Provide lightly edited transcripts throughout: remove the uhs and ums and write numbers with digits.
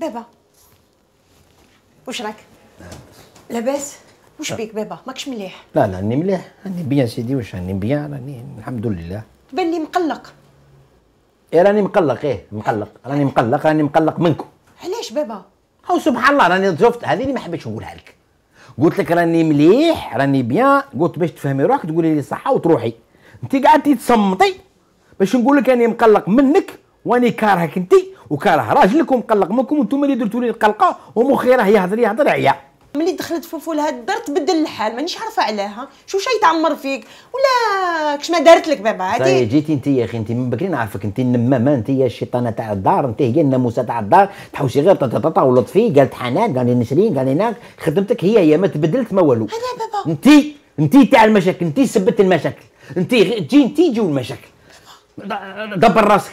بابا واش راك؟ لاباس؟ واش بيك بابا؟ ماكش مليح؟ لا راني مليح، راني بيان سيدي. واش راني بيان؟ راني الحمد لله. تبان لي مقلق. راني مقلق، مقلق، راني مقلق منكم. علاش بابا؟ هاو سبحان الله، راني شفت هذه اللي ما حبيتش نقولها لك. قلت لك راني مليح، راني بيان، قلت باش تفهمي روحك تقولي لي صحه وتروحي. انت قعدتي تصمتي باش نقول لك راني مقلق منك، واني كارهك انت وكاره راجلك ومقلق منكم، وانتم اللي درتوا لي القلقه ومخي راه يهضر عيا. ملي دخلت فوفو لهاد الدار تبدل الحال، مانيش عارفه علاه. شو شي تعمر فيك ولا كش ما دارت لك بابا؟ هادي جيتي انت يا اخي، انت من بكري نعرفك انت النمامه، انت هي الشيطانه تاع الدار، انت هي الناموسه تاع الدار، تحوسي غير طاطا ولطفي. قالت حنان، قال لي نسرين، قال لي ناك، خدمتك هي ما تبدلت ما والو. انا بابا انت تاع المشاكل، انت سبت المشاكل، انت تجيو المشاكل. دبر راسك.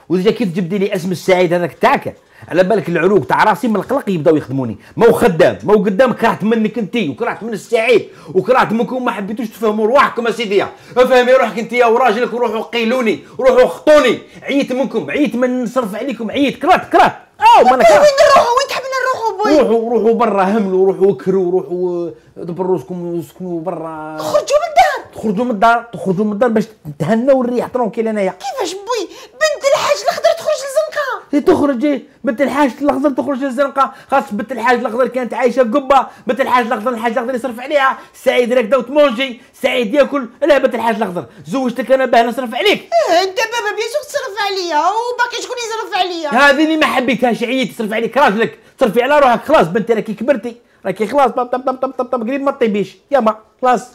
وديجا كيف جبدي لي اسم السعيد هذاك تاعك، على بالك العروق تاع راسي من القلق يبداو يخدموني. ما هو خدام، ما هو قدام. كرهت منك انت وكرهت من السعيد وكرهت منكم، ما حبيتوش تفهموا رواحكم اسيدي. افهمي روحك انت وراجلك، وروحوا قيلوني، وروحوا خطوني. عييت منكم، عييت من نصرف عليكم، عييت. كرهت ما انا كرهت. وين نروحوا؟ وين تحبنا نروحوا بوي؟ روحوا برا، هملوا، روحوا وكروا، روحوا دبروا راسكم وسكنوا برا. خرجوا من الدار. تخرجوا من الدار باش تهنوا والريح ترونكيل. انايا كيفاش بوي؟ بنت الحاج الخضر تخرج للزنقه. تخرج بنت الحاج الاخضر تخرج للزنقه. خاص بنت الحاج الاخضر كانت عايشه قبه. بنت الحاج الاخضر، الحاج الاخضر يصرف عليها. سعيد راكده وتمونجي، سعيد ياكل. لا بنت الحاج الاخضر زوجتك انا باه نصرف عليك. انت بابا بيان سور تصرف عليا، وباقي شكون يصرف عليا؟ هذه اللي ما حبيتهاش. عييت تصرف عليك راجلك، تصرفي على روحك. خلاص بنتي راكي كبرتي، راكي خلاص طب طب طب طب طب قريب ما طيبيش ياما خلاص.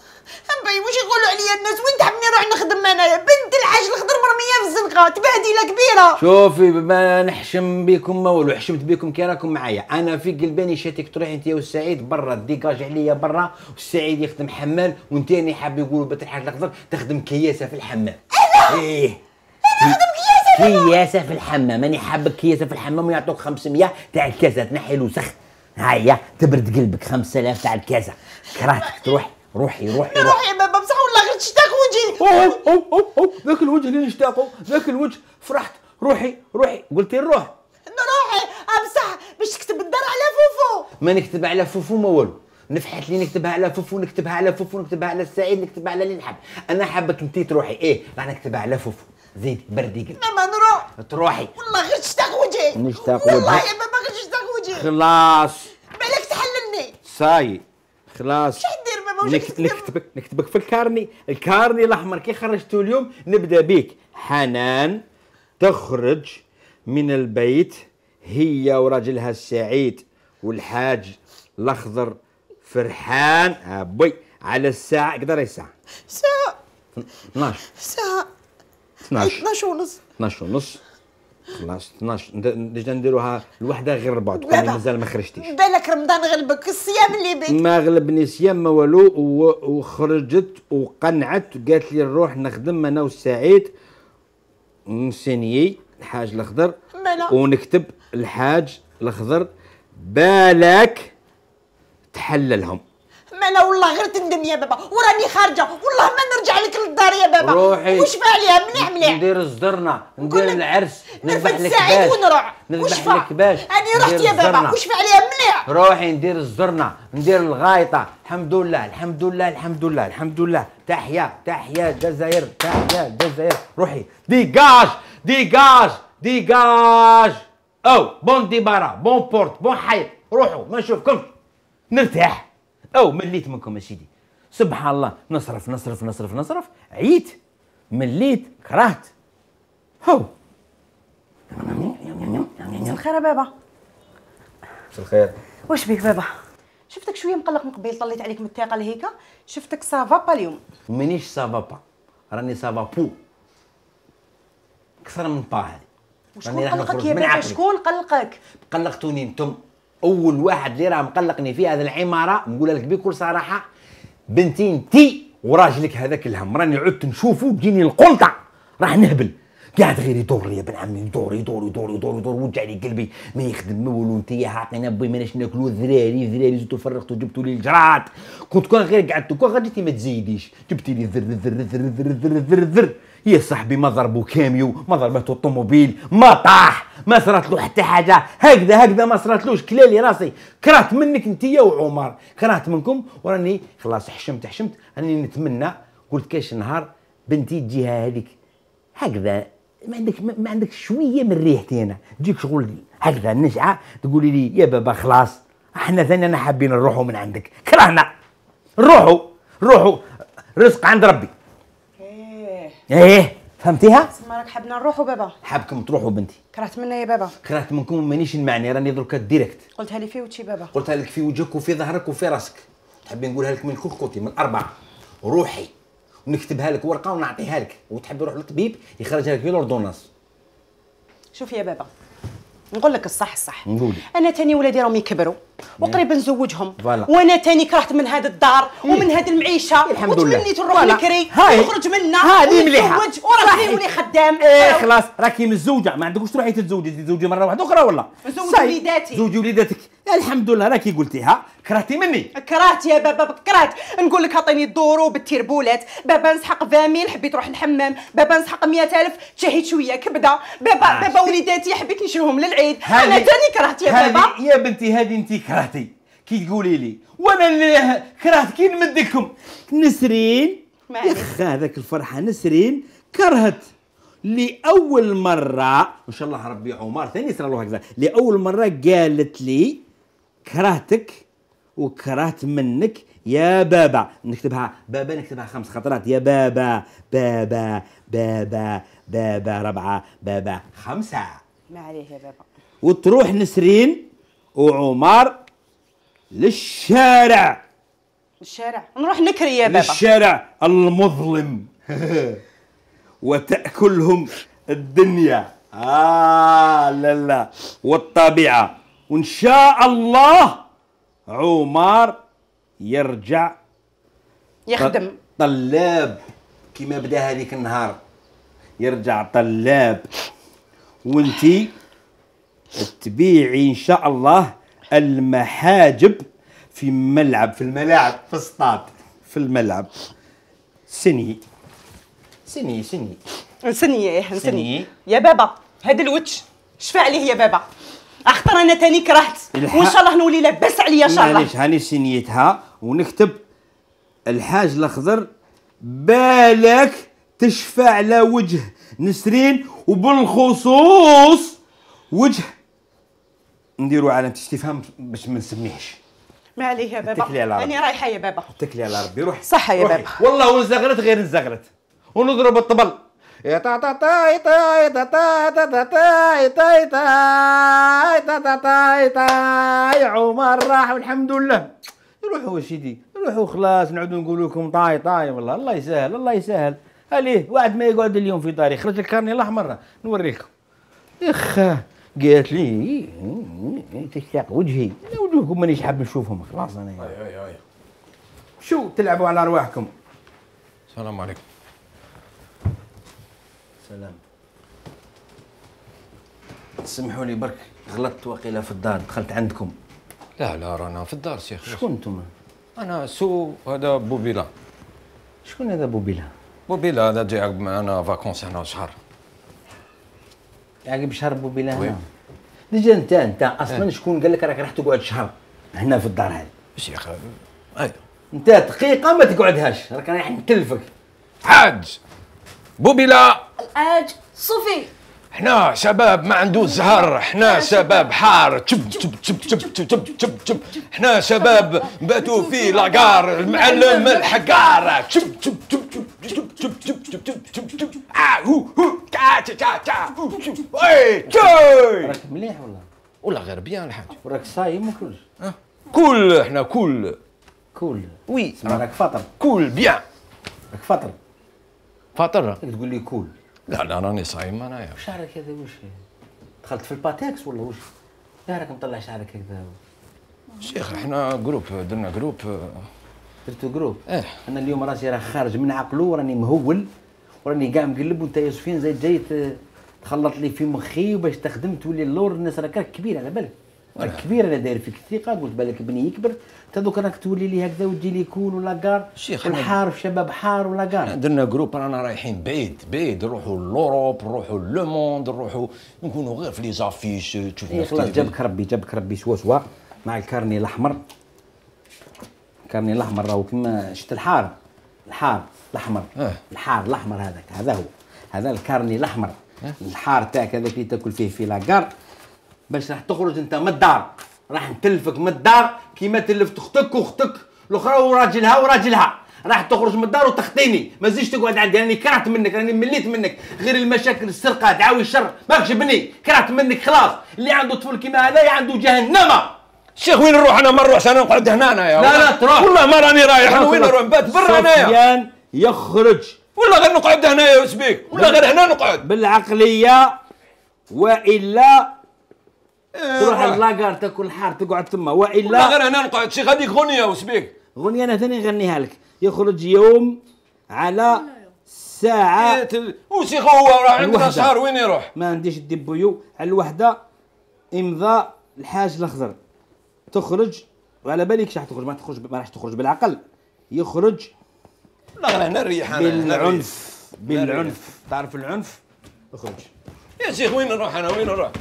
باي واش يقولوا عليا الناس؟ وين تحبني نروح نخدم انايا؟ بنت الحاج الخضر مرميه في الزنقه، تبهديله كبيره. شوفي ما نحشم بكم ما والو، حشمت بكم كي راكم معايا. انا في قلباني شاتك تروحي انت والسعيد برا، ديكاج عليا برا، والسعيد يخدم حمال، وانت راني حاب يقولوا بنت الحاج الاخضر تخدم كياسه في الحمام. ايه انا نخدم كياسه في الحمام. ماني حابك كياسه في الحمام ويعطوك 500 تاع الكاسه، تنحي الوسخ. هيا تبرد قلبك. 5000 تاع الكاسه. كرهتك تروحي. روحي يا بابا، بصح والله غير تشتاق وجهي. أوه ذاك الوجه اللي نشتاقو، ذاك الوجه فرحت. روحي قلتي نروح. نروحي بصح باش تكتب الدار على فوفو. ما نكتب على فوفو ما والو. نفحت لي نكتبها على فوفو، نكتبها على السعيد، نكتبها على اللي نحب. انا حابك انت تروحي. ايه راح نكتبها على فوفو. زيدي بردي قلبي. ماما نروح. تروحي. والله غير تشتاق وجهي. نشتاق وجهي والله يا بابا غير تشتاق وجهي. خلاص بالك تحللني. صاي خلاص. واش دير بابا؟ واش نكتبك في الكارني الاحمر كي خرجتوا اليوم. نبدا بيك. حنان تخرج من البيت هي وراجلها السعيد والحاج الاخضر فرحان ابوي على الساعه. قدر الساعه؟ ساعه 12 ساعه 12 ونص. 12 ونص. خلاص 12 ديجا نديروها الوحده غير 4 تكوني مازال ما خرجتيش. بالك رمضان غلبك، الصيام اللي بك. ما غلبني صيام ما والو. وخرجت وقنعت قالت لي نروح نخدم انا والسعيد، نسينيي الحاج الاخضر ونكتب الحاج الاخضر. بالك تحللهم. مالا والله غير تندم يا بابا، وراني خارجه والله ما نرجع لك للدار يا بابا. روحي. وش فعليها؟ مليح ندير الزرنه، ندير العرس، نذبح لك باش ونروح. نذبح لك باش. انا رحت يا بابا. وش فعليها؟ مليح. روحي ندير الزرنه، ندير الغايطه. الحمد لله. تحيا الجزائر، تحيا الجزائر. روحي ديجاج. او بون ديبارا، بون بورت، بون حيط. روحوا ما نشوفكمش، نرتاح. او مليت منكم يا سيدي. سبحان الله. نصرف. عييت، مليت، كرهت. هو مساء الخير يا بابا. مساء الخير. واش بيك بابا؟ شفتك شويه مقلق من قبيل، طليت عليك من الثقه لهيكا. شفتك سافا با اليوم. مانيش سافا با، راني سافا بو. اكثر من با هذه. شكون قلقك يا بابا؟ شكون قلقك؟ قلقتوني انتم. اول واحد اللي راه مقلقني في هذه العماره نقولها لك بكل صراحه، بنتي انتي وراجلك هذاك الهم. راني عدت نشوفه تجيني القنطه، راح نهبل. قاعد غير يدور لي يا بن عمي، يدور وجع لي قلبي. ما يخدم ما والو. انت عطينا بوي ماناش ناكلو. ذراري زدتو فرغتو جبتوا لي الجراد. كنت كون غير قعدتو كون غير جيتي ما تزيديش. جبتي لي ذر يا صاحبي ما ضربوا كاميو، ما ضربته الطوموبيل، ما طاح، ما صرات له حتى حاجه، هكذا ما صراتلوش. كلالي راسي، كرهت منك انت وعمر، كرهت منكم، وراني خلاص حشمت. راني نتمنى، قلت كاش نهار بنتي تجيها هذيك هكذا، ما عندك شويه من ريحتي انا، تجيك شغل هكذا نشعه، تقولي لي يا بابا خلاص احنا ثاني حابين نروحوا من عندك، كرهنا روحوا رزق عند ربي. ايه فهمتيها؟ تسمى راك حابنا نروحوا بابا. حابكم تروحوا بنتي. كرهت منا يا بابا. كرهت منكم مانيش نمعني، راني دركا ديريكت. قلتها لي في وجهي بابا. قلتها لك في وجهك وفي ظهرك وفي راسك. تحبي نقولها لك من كوكوتي من الاربعه. روحي ونكتبها لك ورقه ونعطيها لك، وتحبي نروح للطبيب يخرجها لك في لوردوناس. شوف يا بابا، نقول لك الصح نقولي. انا تاني ولادي راهم يكبروا وقريب نزوجهم، فوالا. وانا تاني كرهت من هذه الدار ومن هذه المعيشه، الحمد لله. وتمنيت نروح نكري ونخرج منها هذه مليحه ونتزوج وراسي نولي خدام. خلاص راكي متزوجه، ما عندكوش تروحي تتزوجي مره واحده اخرى ولا؟ نزوج وليداتي. زوجي وليداتك، الحمد لله راكي قلتيها. كرهتي مني؟ كرهت يا بابا، كرهت. نقول لك عطيني الدورو بالتيربولات، بابا نسحق 20 حبيت نروح الحمام، بابا نسحق 100,000 تشهيت شويه كبده، بابا وليداتي حبيت نشريهم للعيد. انا تاني كرهت يا بابا. يا بنتي هذه انت كرهتي كي تقولي لي، وانا اللي كرهت كي نمدكم. نسرين يا اخ هذاك الفرحه، نسرين كرهت لاول مره، ان شاء الله ربي عمر ثاني يصير له هكذا، لاول مره قالت لي كرهتك وكرهت منك يا بابا. نكتبها بابا، نكتبها 5 خطرات، يا بابا بابا بابا بابا 4 بابا 5. ما عليه يا بابا. وتروح نسرين وعمر للشارع نروح نكري يا بابا، للشارع المظلم وتأكلهم الدنيا لا والطبيعة، وإن شاء الله عمر يرجع يخدم طلاب كما بدا هذيك النهار، يرجع طلاب، وانتي تبيعي ان شاء الله المحاجب في الملاعب في السطاد في الملعب. سني نسني يا بابا. هذا الوتش شفع عليه يا بابا، اختار انا تاني كرهت، وان شاء الله نولي لاباس عليا ان شاء الله. معليش هاني سنيتها، ونكتب الحاج الاخضر بالك تشفع على وجه نسرين، وبالخصوص وجه نديروا علامة استفهام باش ما نسميهش. ما عليه يا بابا، انا رايحه يا بابا. اتكلي على ربي، روحي صحه يا بابا. والله ونزغرت غير نزغرت، ونضرب الطبل يا تا تا تا تا تا تا تا تا تا تا يا عمر راح والحمد لله. روحوا سيدي روحوا خلاص، نعودوا نقول لكم طاي والله. الله يسهل عليه، واحد ما يقعد اليوم في داري. خرج الكارني الاحمر نوريكم. اخ قالت لي تشتاق وجهي، وجوهكم مانيش حاب نشوفهم خلاص. انا اي شو تلعبوا على ارواحكم. السلام عليكم. سلام. سمحوا لي برك غلطت وقيله في الدار، دخلت عندكم. لا رانا في الدار شيخ. شكون انتم؟ انا هذا بوبيلا. شكون هذا بوبيلا؟ بوبيلا هذا جاي معنا فاكونس هنا شهر. عقب شهر بوبيلا هنا؟ ديجا انت اصلا شكون قال لك راك راح تقعد شهر هنا في الدار هذه؟ شيخ اي انت دقيقه ما تقعدهاش، راك رايح نكلفك. حاج بوبيلا الحاج صوفي، احنا شباب ما عنده زهر، احنا شباب حار تشب تشب تشب تشب تشب تشب تشب، احنا شباب باتوا في لاكار المعلم الحقار تشب تشب تشب تشب تشب تشب تشب تشب تشب هو تا تا تا وي جاي. راك مليح ولا غير بيان الحاج. وراك صايم وكلش؟ كل احنا كل وي راك فاطر؟ كل بيان. راك فاطر؟ فاطر؟ تقول لي كول. لا راني صايم انايا. شعرك هذا واش دخلت في الباتكس ولا واش؟ راك مطلع شعرك هكذا. شيخ احنا جروب، درنا جروب. درتو جروب؟ ايه. انا اليوم راسي راه خارج من عقله، وراني مهول، وراني كاع مقلب، وانت يا سفيان زايد جاي تخلط لي في مخي، وباش تخدم تولي اللور. الناس راك كبير على بالك. كبير انا داير فيك الثقه، قلت بالك بني يكبر انت دوك راك تولي لي هكذا وتجي لي كول ولا كار شيخ والحار في شباب حار ولا كار. درنا جروب رانا رايحين بعيد نروحوا لوروب نروحوا لو موند نروحوا نكونوا غير في لي زافيش تشوفنا. خلاص جابك ربي سوا مع الكارني الاحمر. الكارني الاحمر راهو كيما شفت الحار الاحمر الحار الاحمر هذا هو هذا الكارني الاحمر الحار تاعك هذاك اللي تاكل فيه في لاكار باش راح تخرج انت من الدار، راح نتلفك من الدار كيما تلفت اختك واختك الاخرى وراجلها راح تخرج من الدار وتخطيني، ما تزيدش تقعد عندي راني كرهت منك، راني مليت منك، غير المشاكل السرقه دعاوي الشر ماكش بني، كرهت منك خلاص. اللي عنده طفل كيما هذا عنده جهنم. شيخ وين نروح انا؟ ما نروحش انا نقعد هنا انايا. لا تروح والله ما راني رايح. وين نروح نبات برا انايا؟ سفيان يخرج ولا غير نقعد هنايا وسبيك ولا غير هنا نقعد بالعقليه والا تروح اللاكار تاكل الحار تقعد تما والا ولا غير هنا نقعد. شيخ هذيك غنيه وسبيك غنيه انا ثاني نغنيها لك. يخرج يوم على ساعه وشيخ هو راه عندنا شهر وين يروح؟ ما عنديش الدبويو على الوحده امضاء الحاج الاخضر تخرج وعلى بالك راح تخرج ما راح تخرج بالعقل يخرج لا غير هنا نريح انا بالعنف تعرف العنف اخرج يا شيخ. وين نروح انا؟ وين نروح؟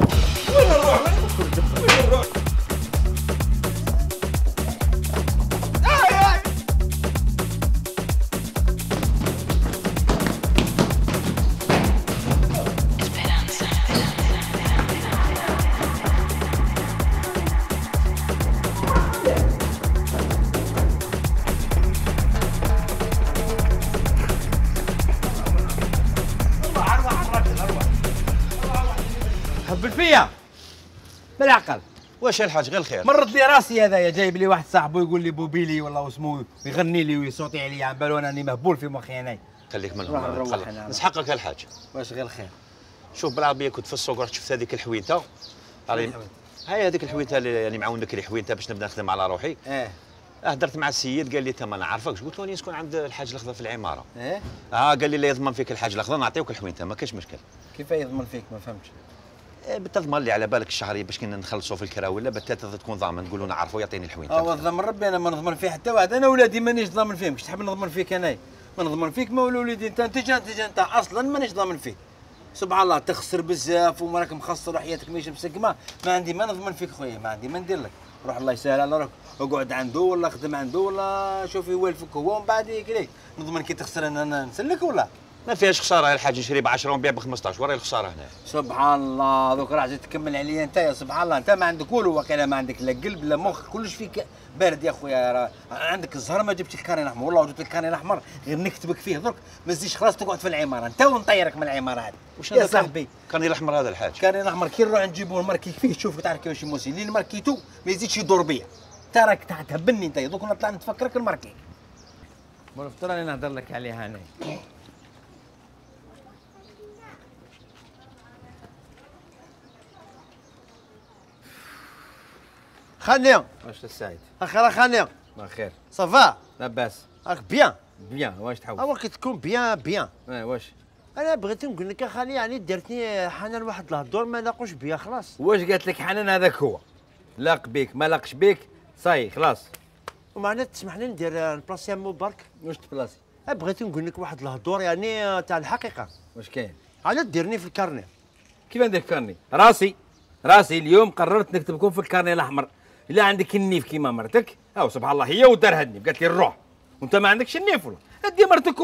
هبل فيا بالعقل. واش الحاج؟ غير الخير. مرت لي راسي هذايا جايب لي واحد صاحبه يقول لي بوبيلي والله واسمو يغني لي ويصوتي عليا على بالو انني مهبول في مخي انايا. خليك منهم نسحقك الحاج. واش غير الخير؟ شوف بالعربيه كنت في السوق رحت شفت هذيك الحوينته. هاي هذيك الحوينته اللي معاونك الحوينته باش نبدا نخدم على روحي. هدرت مع السيد قال لي انت ما نعرفكش. قلت له راني نسكن عند الحاج الاخضر في العماره. قال لي لا يضمن فيك الحاج الاخضر نعطيوك الحوينته ما كاش مشكل. كيف يضمن فيك؟ ما فهمتش. بتضمن لي على بالك الشهريه باش كنا نخلصوا في الكرا ولا بالثالث تكون ضامن تقولوا نعرفوا يعطيني الحوينته. والضمن ربي انا ما نضمن فيه حتى واحد. انا ولادي مانيش ضامن فيهم. كش تحب نضمن فيك انايا؟ ما نضمن فيك ما ولادي انت اصلا مانيش ضامن فيك. سبحان الله تخسر بزاف وراك مخسر وحياتك ماشي مسقمه. ما نضمن فيك خويا. ما عندي ما ندير لك. روح الله يسهل على راك اقعد عنده ولا خدم عنده ولا شوف يوالفك هو ومن بعد يقول نضمن كي تخسر انا نسلك ولا ما فيهاش خساره يا الحاج. نشري ب 10 ونبيع ب 15 وراي الخساره هنا. سبحان الله دوك راح تكمل عليا انت يا سبحان الله. انت ما عندك والو واقيلا ما عندك لا قلب لا مخ كلش فيك بارد يا خويا. راه عندك الزهر ما جبتش الكاري الاحمر والله جبت الكاري الاحمر غير نكتبك فيه درك ما تزيدش خلاص تقعد في العماره انت ونطيرك من العماره هذه يا صاحبي. كارني الاحمر هذا الحاج. كارني الاحمر كي نروح نجيبوه نماركي فيه شوف تعرف كيفاش يموسي اللي ماركيتو ما يزيدش يدور بيا. انت راك تهبلني انت دوك نطلع نتفكرك نماركيك. عرفت راني نهضر لك عليها انا. خانيا واش السعيد؟ اخيرا خانيا بخير صافا لاباس راك بيان واش تحوس؟ هو كي تكون بيان واش انا بغيت نقول لك اخاني يعني درتني حنان واحد الهضور ما لاقوش بيا خلاص. واش قالت لك حنان هذاك هو لاق بيك ما لاقش بيك صاي خلاص. ومعناتها تسمح لي ندير البلاصه مبارك. واش تبلاصي؟ بغيت نقول لك واحد الهضور يعني تاع الحقيقه. واش كاين؟ على ديرني في الكارني. كيف ندير كارني؟ راسي اليوم قررت نكتبكم في الكارني الاحمر. الا عندك النيف كيما مرتك او سبحان الله هي ودارها النيف قالت لي نروح وانت ما عندكش النيف ولا ادي مرتك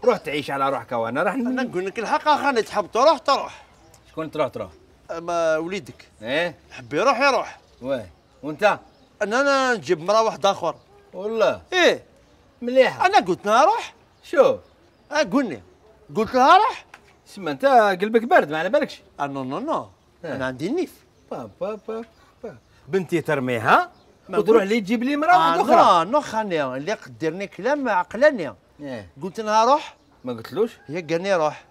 روح تعيش على روحك وانا راح انا نقول لك الحق اخاني تحب تروح. شكون تروح؟ ما وليدك حب يروح. واه وانت؟ انا نجيب مرا واحد اخر والله مليحه. انا قلت لها روح. شوف قلت لها روح. سما انت قلبك بارد ما على بالكش. نو انا عندي النيف. با بنتي ترميها وتروح لي تجيب لي مرا واحده اخرى. نو خانيا اللي قدرني كلام عقلاني. قلت لها روح ما قلتلوش؟ هي قالني روح.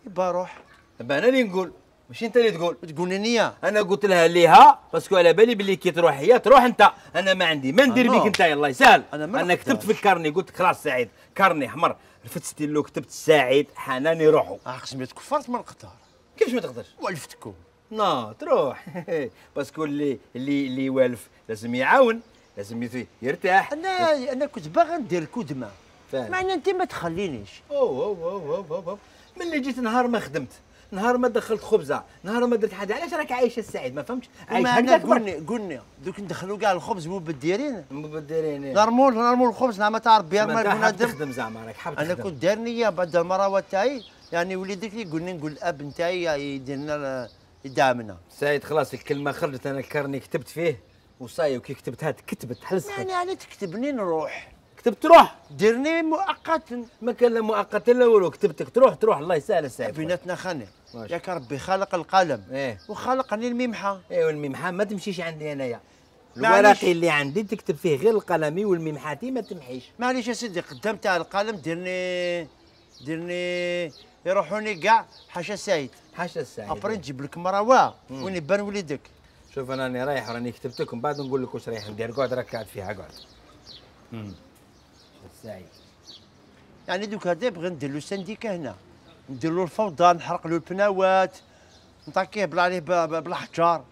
يبا روح. انا اللي نقول ماشي انت اللي تقول لي انا قلت لها ليها باسكو على بالي بلي كي تروح هي تروح انت. انا ما عندي ما ندير بيك انت الله يسهل. انا كتبت في الكارني قلت خلاص سعيد كارني احمر رفدت ستيلو كتبت سعيد حنان يروحوا. قسمي تكفرت من القطار. كيفاش ما تقدرش؟ والفتكم نو تروح باسكو اللي والف لازم يعاون، لازم يرتاح. انا كنت باغي ندير الكدمه، فاهم. مع ان انت ما تخلينيش. أوه. ملي جيت نهار ما خدمت، نهار ما دخلت خبزه، نهار ما درت حاجه، علاش راك عايشه السعيد؟ ما فهمتش. عايش هكذاك قلنا دوك ندخلوا كاع الخبز مبدرين مبدرين. نرمول الخبز ما تعرف بها ما بنادم. تخدم زعما راك حاب انا كنت داير نيه بعد المراوه تاعي، يعني وليدك يقول لي نقول الاب نتاعي يدير لنا يدعمنا. سعيد خلاص الكلمه خرجت، انا الكارني كتبت فيه وصاي، وكي كتبتها تكتبت حلسخت. يعني تكتبني نروح، كتبت تروح، ديرني مؤقتا. ما كان لا مؤقت لا والو، كتبتك تروح الله يسهل السعيد. بيناتنا خاني ياك ربي خالق القلم وخلقني الممحى. والممحى ما تمشيش عندي انايا، الورقي اللي عندي تكتب فيه غير القلمي والممحاتي ما تمحيش. معليش يا سيدي قدام تاع القلم ديرني يروحوني كاع حاشا سعيد. حاشا السعيد. ابري نجيب لك مروه وين يبان وليدك. شوف انا راني رايح، راني كتبت لكم بعد نقول لك واش رايح ندير. قعد راك قاعد فيها قعد. السعيد يعني دوك هذا بغي ندير له سنديكه هنا، ندير له الفوضى، نحرق له البناوات، نطاكيه بلا عليه بالحجار.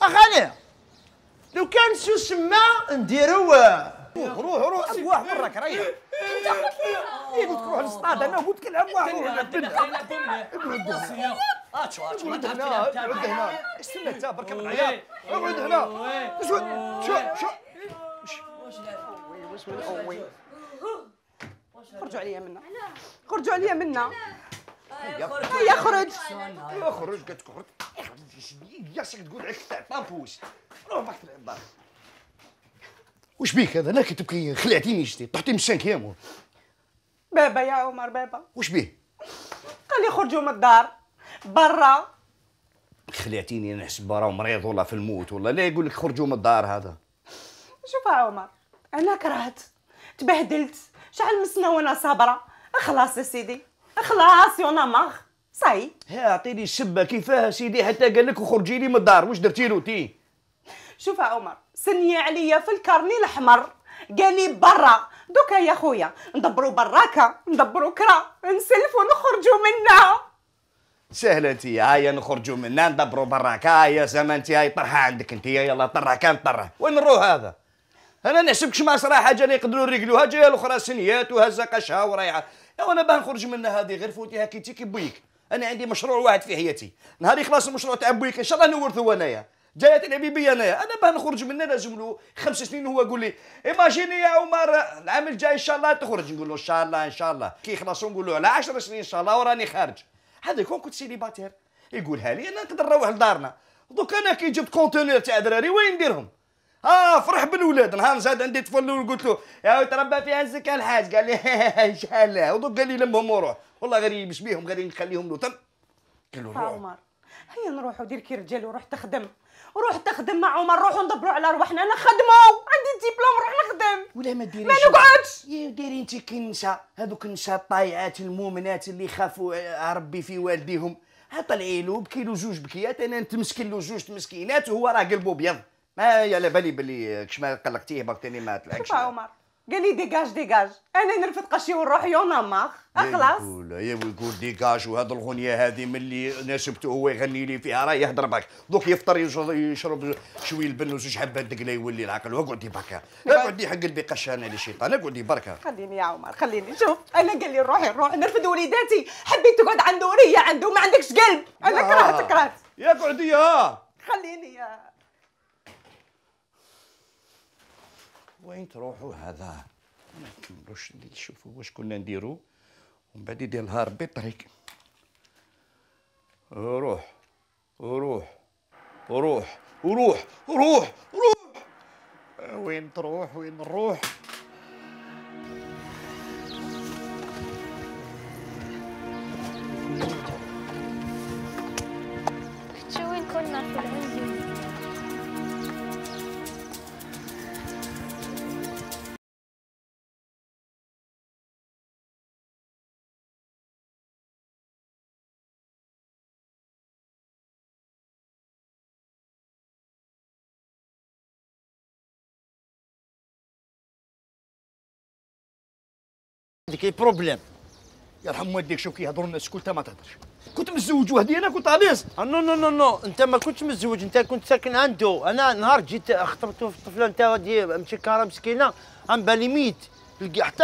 اخاني لو كان سو سما نديرو روح ابواه برك ريح. انت قلت لي قلت روح للصطاد، انا قلت لك العب واحد. اقعد هنا استنى انت برك من العياط. اقعد هنا شو خرجوا عليا منا، خرجوا عليا منا. هيا خرج. خرج قالت لك خرج. ياسك تقول عليك تاع طامبوس. روح باك تلعب. واش بيك هذا؟ انا كي تبكي خلعتيني شتي طحتي من 5 ايام. بابا يا عمر بابا واش بيه؟ قال لي خرجوا من الدار برا. خلعتيني انا نحسب راه مريض ولا في الموت ولا لا، يقول لك خرجوا من الدار هذا. شوف يا عمر انا كرهت تبهدلت شحال من سنه وانا صابره. خلاص يا سيدي خلاص يونا ماخ صاي. اعطيني السبه كيفاه سيدي حتى قال لك وخرجي لي من الدار. واش درتي له تي؟ شوف يا عمر سني عليا في الكارني الاحمر قال لي برا. دوكا يا خويا ندبروا براكه ندبروا كرا نسلفوا نخرجوا منها. سهله انت هيا نخرجوا منا ندبروا براك. هيا زعما انت هاي طرحه عندك انت. يلا طرح كان طرح. وين نروح هذا؟ انا نحسبكش ما صرا حاجه اللي يقدروا يريقلوها. جايه الاخرى سنيات وهزه قشها ورايحه. وانا باه نخرج منها هذه غير فوتي هكيتي كي بويك. انا عندي مشروع واحد في حياتي، نهار يخلص المشروع تاع بويك ان شاء الله نورثو انايا. جايه تلعبي بيا انايا. انا باه نخرج منها لازم له 5 سنين. هو يقول لي ايماجيني يا عمر العام الجاي ان شاء الله تخرج. نقول له ان شاء الله ان شاء الله. كي يخلصوا نقول له على 10 سنين ان شاء الله وراني خارج. هذا يكون كنت سيليباتير يقولها لي انا نقدر نروح لدارنا. دوك انا كي جبت كونتينر تاع دراري وين نديرهم؟ فرح بالولاد. نهار زاد عندي طفل قلت له يا تربى فيها الزكاه الحاج. قال لي ان شاء الله. ودوك قال لي لمهم وروح. والله غير يبش بيهم غير نخليهم له تم. قال له روح عمر هيا نروحوا دير كي رجال وروح تخدم. روح تخدم مع عمر. روحوا ندبروا على رواحنا. انا خدموا عندي الدبلوم نروح نخدم ولا ما ديريش. ما نقعدش. يا ديري انت كي النساء هذوك النساء الطايعات المؤمنات اللي خافوا ربي في والديهم. طلعي له بكي له 2 بكيات. انا نتمسكن له 2 مسكينات وهو راه قلبه ابيض. ما على بالي بلي كش ما قلقتيه باك تاني ما تلعبش. شوف عمر قال لي ديجاج انا نرفد قشي ونروح يونا ماخ. خلاص يقول ديكاج. وهذا الغنيه هذه ملي ناسبته هو يغني لي فيها راه يهضر بك. دوك يفطر يشرب شويه البن وزوج حبات دقله يولي العقل. واقعدي بركه اقعدي حق قلبي قشان على شيطان. اقعدي بركه. خليني يا عمر خليني. شوف انا قال لي نروح نرفد وليداتي. حبيت تقعد عنده وريه عنده ما عندكش قلب. انا كرهت يا قعدي خليني يا. وين تروحوا هذا؟ ما نكملوش اللي نشوفوا واش كنا نديروا ومن بعد يدير نهار ربي الطريق. روح روح روح روح روح روح. وين تروح وين نروح؟ شو وين كنا في العزم؟ عندك بروبليم يرحم والديك شوف كيهضروا الناس كلها ما تهضرش. كنت متزوج وحدي انا كنت عريس. نو نو نو نو انت ما كنتش متزوج، انت كنت ساكن عنده. انا نهار جيت خطبته في الطفله انت غادي مشكاره مسكينه عم بالي ميت، حتى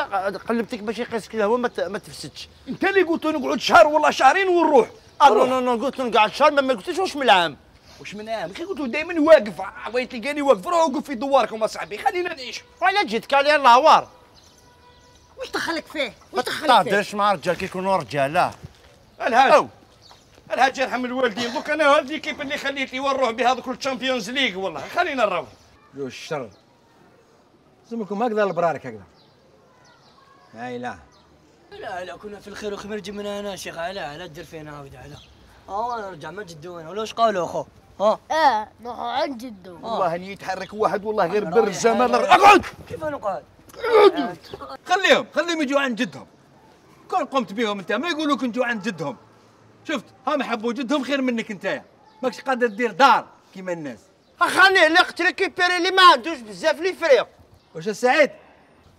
قلبتك باش يقيسك الهواء ما تفسدش. انت اللي قلت له نقعد شهر والله شهرين ونروح. نو نو نو قلت له نقعد شهر ما قلتليش واش من العام. واش من عام؟ كي قلت له دائما واقف، بغيت تلقاني واقف، روح وقف في دواركم اصاحبي خلينا نعيش. ولا جيتك على الهوار. واش دخلك فيه؟ ما واش دخلك فيه؟ تهدرش مع رجال كيكونوا رجاله. الحاج يرحم الوالدين، دوك انا هاد ليكيب اللي خليت لي ونروح بها دوك الشامبيونز ليغ والله خلينا نروح. جو الشر لازمكم هكذا البرارك هكذا. لا لا كنا في الخير وخير نجي من هنا شيخ. لا دير فينا عاود على نرجع ما جدونا ولا واش قالوا اخو؟ نروحوا عند جدو. والله اني يتحرك واحد والله غير بر الزمان. اقعد. كيف نقعد؟ خليهم يجوا عند جدهم. كون قمت بهم انت ما يقولوك نجوا عند جدهم. شفت هم حبوا جدهم خير منك انت، ماكش قادر دير دار كيما الناس. اخاني اللي قلت لك كيبيري اللي ما عندوش بزاف لي فريق. واش السعيد؟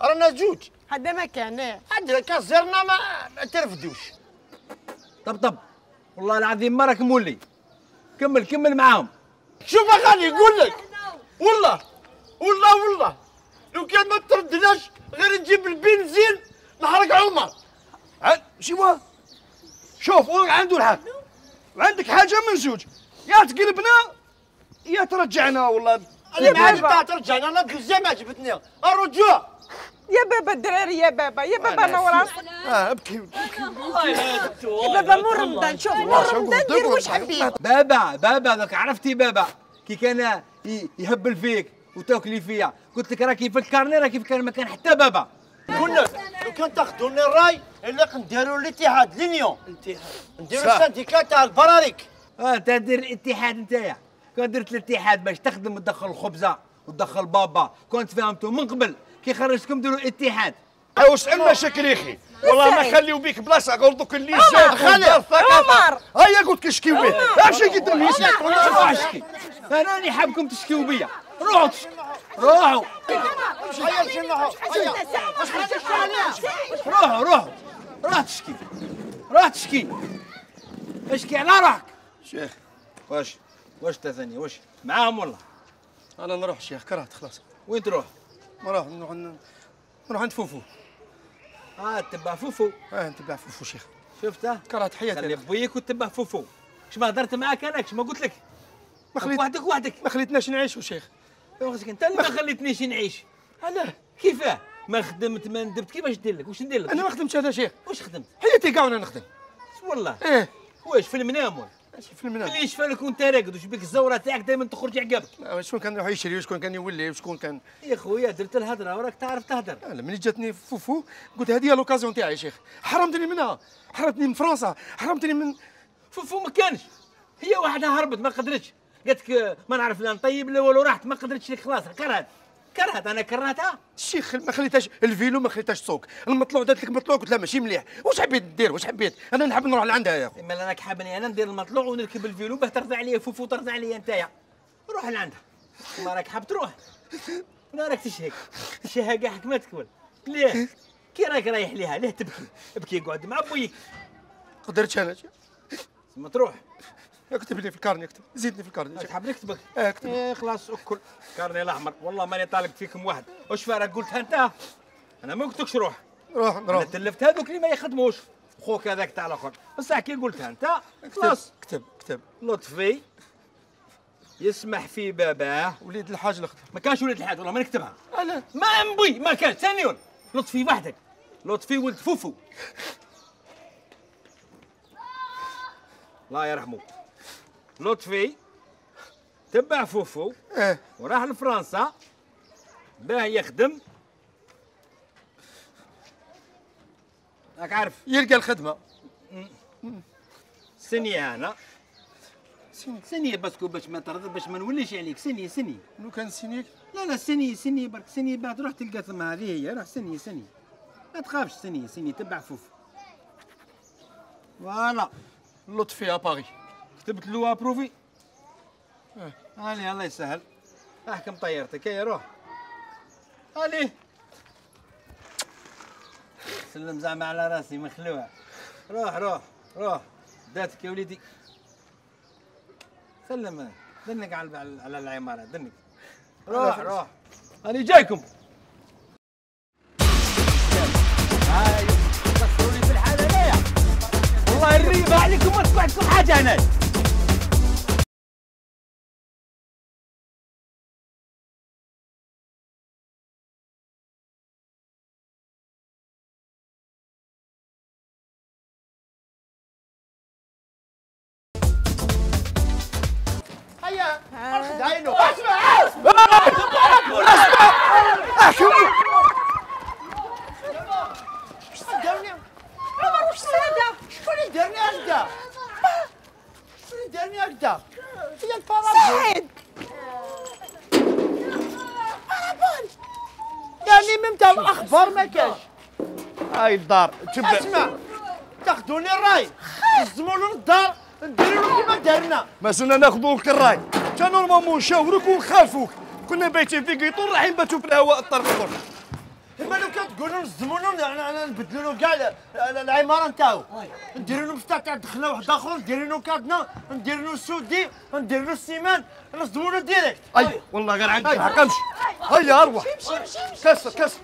رانا جوج. هذا ما كان عندنا كازرنا ما ترفدوش. طب والله العظيم ما راك مولي. كمل معاهم. شوف اخاني نقول لك والله لو كان ما تردناش غير نجيب البنزين نحرق عمر. شوف عنده الحق وعندك حاجه من زوج، يا تقلبنا يا ترجعنا. والله انا ما عجبتها ترجعنا، انا بزاف ما عجبتني الرجوع. يا بابا الدراري، يا بابا نور راسك. ابكي يا بابا مور رمضان، شوف مور رمضان دير واش حبيت. بابا ذاك عرفتي بابا كي كان يهبل فيك وتاكلي فيا، قلت لك راه كيفكرني راه كيفكر ما كان حتى بابا. نقول لك لو كان تاخذوني الراي الا نديروا الاتحاد لينيون، نديروا السانديكا تاع البراريك. انت دير الاتحاد نتايا. كون درت الاتحاد باش تخدم وتدخل الخبزه وتدخل بابا، كنت فهمتوا من قبل كي خرجتكم ديروا الاتحاد. واش المشاكل يا اخي؟ والله ما خليو بيك بلاصه قول دوك اللي زاد خلي عمر هيا قلت كشكيو بيه. امشي قدام يسمع اشكي انا راني حابكم تشكيو بيا. روحوا روح تشكي اشكي على روحك. شيخ واش ثاني واش معاهم والله؟ انا نروح شيخ، كرهت خلاص. وين تروح؟ نروح عند فوفو. تبع فوفو. نتبع فوفو شيخ. شفته؟ كرهت حياتي. خلي بويك وتبع فوفو. كش ما هضرت معاك انا، كش ما قلت لك؟ وحدك ما خليتناش نعيشوا شيخ. انت اللي ما خليتنيش نعيش. علاه؟ كيفاه؟ ما خدمت ما ندبت، كيفاش ندير لك؟ واش ندير لك؟ انا ما خدمتش هذا شيخ. واش خدمت؟ حياتي كاع وانا نخدم. والله؟ واش في المنام ولا؟ ماشي في المنام. اللي يشفى لك وانت راقد، وش بك الزوره تاعك دائما تخرج عقابك. شكون كان يروح يشري وشكون كان يولي وشكون كان. يا خويا درت الهضره وراك تعرف تهدر. لا ملي جاتني فوفو قلت هذه هي لوكازيون تاعي يا شيخ. حرمتني منها، حرمتني من فرنسا، حرمتني من فوفو. ما كانش، هي واحده هربت ما قدرتش، قالت لك ما نعرف لا نطيب لا والو، راحت ما قدرتش لك خلاص. كرهت انا كرهتها. الشيخ ما خليتهاش الفيلو، ما خليتهاش السوق، المطلوع دارت لك مطلوع قلت لا ماشي مليح. واش حبيت دير؟ واش حبيت؟ انا نحب نروح لعندها يا اخو. اما انا حابني انا ندير المطلوع ونركب الفيلو باه ترضى عليا فوفو ترضى عليا نتايا. روح لعندها. ما راك حاب تروح؟ لا راك تشهى كاع حك ما تكمل. ليه؟ كي راك رايح ليها ليه تبكي؟ ابكي قعد مع بويك. قدرتش انا. ما تروح. اكتب لي في الكارني، اكتب زيدني في الكارني. تحب نكتبك؟ اكتب. خلاص اكل كارني الاحمر. والله ماني طالق فيكم واحد. واش فارق قلتها انت؟ انا ما قلتلكش روح. روح. تلفت هذوك اللي ما يخدموش. خوك هذاك تاع الاخر، بصح كي قلتها انت خلاص. كتب لطفي يسمح في باباه. وليد الحاج الاخضر. ما كانش وليد الحاج والله ما نكتبها. لا ما نبغي، ما كان ثاني لطفي وحدك. لطفي ولد فوفو الله يرحمه. لطفي تبع فوفو وراح لفرنسا باه يخدم. راك عارف يلقى الخدمه. سني انا سني باسكو باش ما ترضى باش ما نوليش عليك. سني لو كان سنيك. لا سني برك سني بعد روح تلقى ثم هذه هي. روح سني ما تخافش. سني تبع فوفو. فوالا لطفي اباري. كتبت له ابروفي. الله يسهل. احكم طيارتك. يا روح. سلم زعما على راسي مخلوع. روح روح روح داتك يا وليدي. سلم دنك على العمارة دنك. روح روح أنا جايكم. هاي قصروني في الحالة ليه؟ والله الريبة عليكم ما تطلع لكم حاجة هنا. هيا ارخد عينه. اسمع شكون دارني؟ عمر واش هذا؟ شكون اللي دارني هكذا؟ شكون اللي دارني هكذا؟ هي البارابول. سعيد بارابول يعني من تاع الاخبار ما كاش. هاي الدار تبدا. اسمع تاخذوني الراي تهزموا الدار نديروا له كيما دارنا. ما زلنا ناخذوا لك الراي، تا نورمالمون نشاوروك ونخالفوك. كنا بايتين في قيطون رايحين نباتوا في الهواء الطرف الاخر. اما لو كان تقولوا نزموا له نبدلوا له كاع العماره نتاعو، نديروا له مفتاح تاع دخله واحد اخر، نديروا له كادنا، نديروا له السودي، نديروا له السيمان، نصدموا له ديريكت. اي والله غير عندك الحق. امشي هيا اروح. كسر كسر